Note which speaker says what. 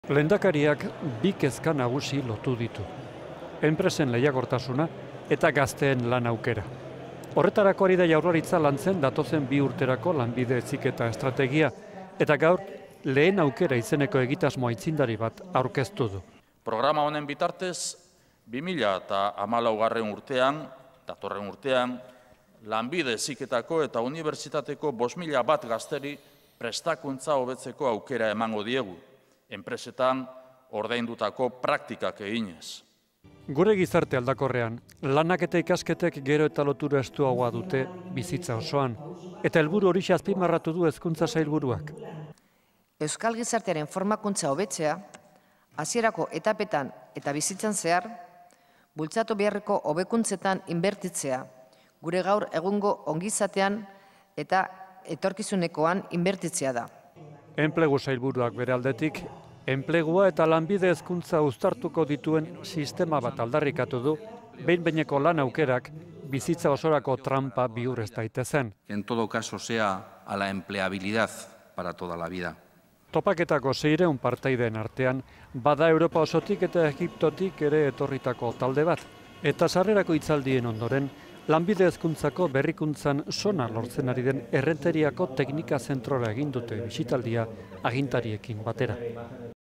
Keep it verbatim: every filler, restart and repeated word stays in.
Speaker 1: Lehendakariak bi kezka nagusi lotu ditu. Enpresen lehiakortasuna eta gazteen lan aukera. Horretarako ari da Jaurlaritza lantzen datozen bi urterako lanbide heziketa estrategia eta gaur lehen aukera izeneko egitasmo aitzindari bat aurkeztu du.
Speaker 2: Programa honen bitartez, bi mila hamalaugarren urtean, datorren urtean, lanbide heziketako eta unibertsitateko bost mila bat gazteri prestakuntza hobetzeko aukera emango diegu, enpresetan ordaindutako praktikak eginez.
Speaker 1: Gure gizarte aldakorrean, lanak eta ikasketek gero eta lotura estuagoa dute bizitza osoan, eta helburu hori azpimarratu du Hezkuntza Sailburuak.
Speaker 3: Euskal gizartearen formakuntza hobetzea, hasierako etapetan eta bizitzan zehar, bultzatu beharreko hobekuntzetan inbertitzea, gure gaur egungo ongizatean eta etorkizunekoan inbertitzea da.
Speaker 1: Enplegu Sailburuak bere aldetik, enplegua eta lanbide hezkuntza uztartuko dituen sistema bat aldarrikatu du, behin-behineko lan aukerak bizitza osorako trampa bihur ez daitezen.
Speaker 4: En todo caso sea a la empleabilidad para toda la vida.
Speaker 1: Topaketako seiehun partaideen artean, bada Europa osotik eta Egiptotik ere etorritako talde bat. Eta sarrerako hitzaldien ondoren, lanbide hezkuntzako berrikuntzan sona lortzen ari den Errenteriako teknika zentrora egin dute bisitaldia agintariekin batera.